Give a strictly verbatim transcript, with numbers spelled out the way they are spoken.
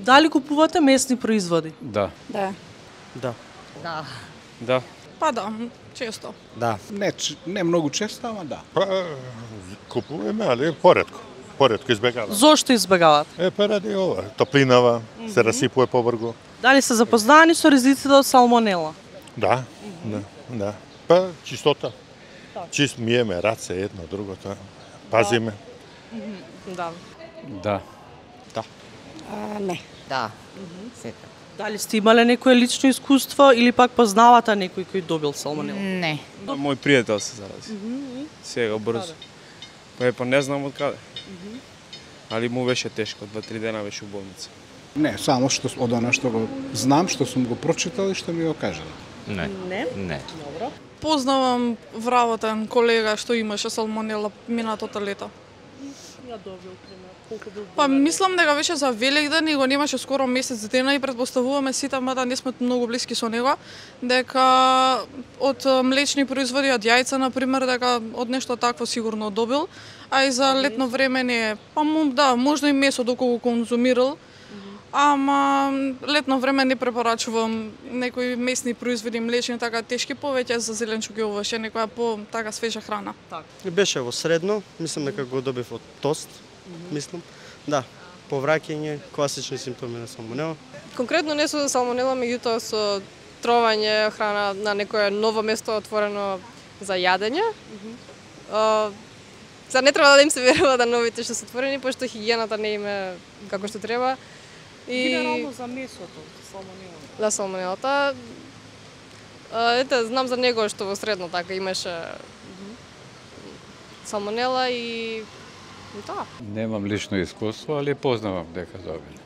Дали купувате месни производи? Да. Да. Да. Да. Да. Па да, често. Да. Не, не многу често, ама да. Па, купуваме, али поредко. Поредко избегаваме. Зошто избегавате? Е, па ради ова, топлинава, се расипува побрзо. Дали се запознаани со ризиците од салмонела? Да, да, да. Па, чистота. Чист миеме раце едно, другото. Пазиме. Да. Да. А, не. Да. Сета. Дали сте имале некое лично искуство или пак познавате некој кој добил салмонела? Не. Мој пријател се зарази. Сега брзо. Па е, па не знам од каде. Али му беше тешко, два-три дена беше у болница. Не, само што од она што го знам, што сум го прочитал и што ми го кажано. Не. Не. Не. Добро. Познавам вработен колега што имаше салмонела минатото лето. Ја добил пример. Колку бил? Па мислам дека беше за Великден и го немаше скоро месец дена и предпоставуваме сите, мада не сме многу блиски со него, дека од млечни производи, од јајца на пример, дека од нешто такво сигурно добил, а и за летно време не е. Па му, да, можно и месо доколку го конзумирал. Ама летно време не препорачувам некои месни производи млечни така тешки, повеќе за зеленчук и овоше, некоја по така свежа храна. Беше во средно, мислам дека го добив од тост, мислам. Да, повраќање, класични симптоми на салмонела. Конкретно не со салмонела, меѓутоа со тровање храна на некое ново место отворено за јадење. Uh, Сега не треба да им се верува да новите што се отворени, пошто хигиената не им е како што треба. И генерално за месото, салмонела. Да, салмонелата. Ете, знам за него што во средно така имаше салмонела и да. Немам лично искуство, али познавам дека добили.